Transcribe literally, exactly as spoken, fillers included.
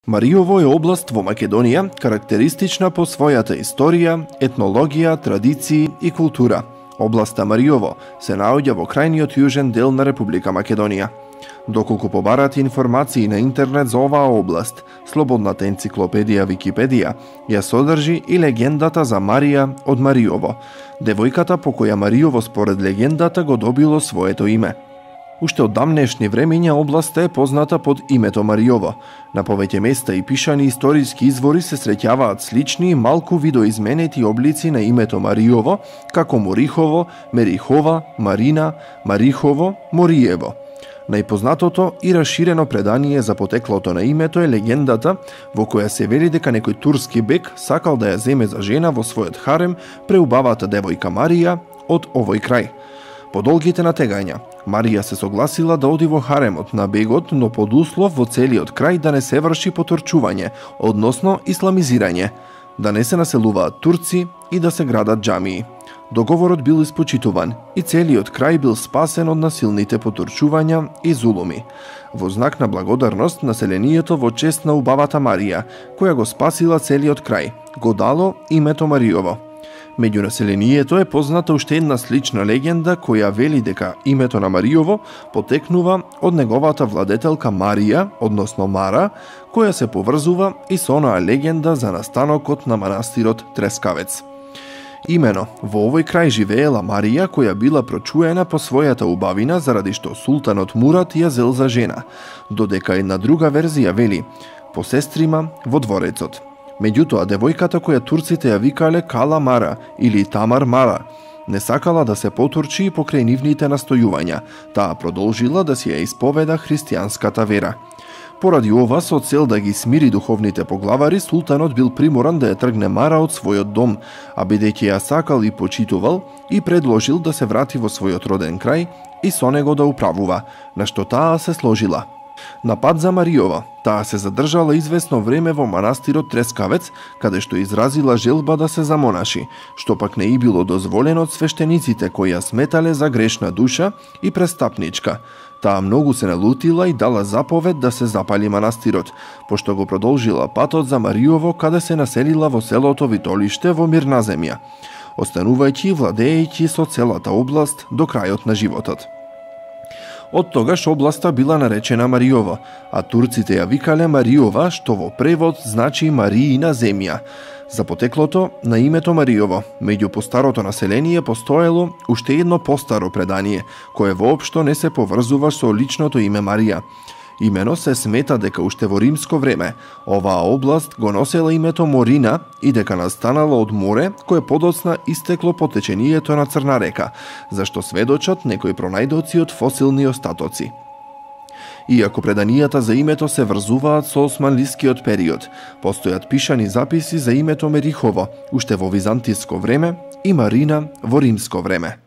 Мариово е област во Македонија, карактеристична по својата историја, етнологија, традиции и култура. Областа Мариово се наоѓа во крајниот јужен дел на Република Македонија. Доколку побарате информации на интернет за оваа област, слободната енциклопедија Википедија ја содржи и легендата за Марија од Мариово, девојката по која Мариово според легендата го добило своето име. Уште од дамнешни времења областа е позната под името Мариово. На повеќе места и пишани историски извори се среќаваат слични и малку видоизменети облици на името Мариово, како Морихово, Мерихова, Марина, Марихово, Мориево. Најпознатото и расширено предание за потеклото на името е легендата во која се вели дека некој турски бек сакал да ја земе за жена во својот харем преубавата девојка Марија од овој крај. По долгите натегања, Марија се согласила да оди во харемот на бегот, но под услов во целиот крај да не се врши потурчување, односно исламизирање, да не се населуваат турци и да се градат џамии. Договорот бил испочитуван и целиот крај бил спасен од насилните потурчувања и зулуми. Во знак на благодарност, населението во чест на убавата Марија, која го спасила целиот крај, го дало името Мариово. Меѓу населението е позната уште една слична легенда која вели дека името на Мариово потекнува од неговата владетелка Марија, односно Мара, која се поврзува и со онаа легенда за настанокот на манастирот Трескавец. Имено, во овој крај живеела Марија која била прочуена по својата убавина заради што султанот Мурат ја зел за жена, додека една друга верзија вели по сестрима во дворецот. Меѓутоа, девојката која турците ја викале Кала Мара или Тамар Мара не сакала да се потурчи покрај нивните настојувања, таа продолжила да си ја исповеда христијанската вера. Поради ова, со цел да ги смири духовните поглавари, султанот бил приморан да ја тргне Мара од својот дом, а бидејќи ја сакал и почитувал, и предложил да се врати во својот роден крај и со него да управува, на што таа се сложила. На пат за Мариово, таа се задржала известно време во манастирот Трескавец, каде што изразила желба да се замонаши, што пак не и било дозволено од свештениците кои ја сметале за грешна душа и престапничка. Таа многу се налутила и дала заповед да се запали манастирот, пошто го продолжила патот за Мариово каде се населила во селото Витолиште во мирна земја, останувајќи и владеејќи со целата област до крајот на животот. Од тогаш областа била наречена Мариово, а турците ја викале Мариова, што во превод значи Мариина земја. За потеклото на името Мариово, меѓу постарото население постоело уште едно постаро предание, кое воопшто не се поврзува со личното име Марија. Имено се смета дека уште во римско време оваа област го носела името Морина и дека настанала од море кое подоцна истекло по течението на Црна река, зашто сведочат некои пронајдоци од фосилни остатоци. Иако преданијата за името се врзуваат со османлискиот период, постојат пишани записи за името Мерихово уште во византиско време и Марина во римско време.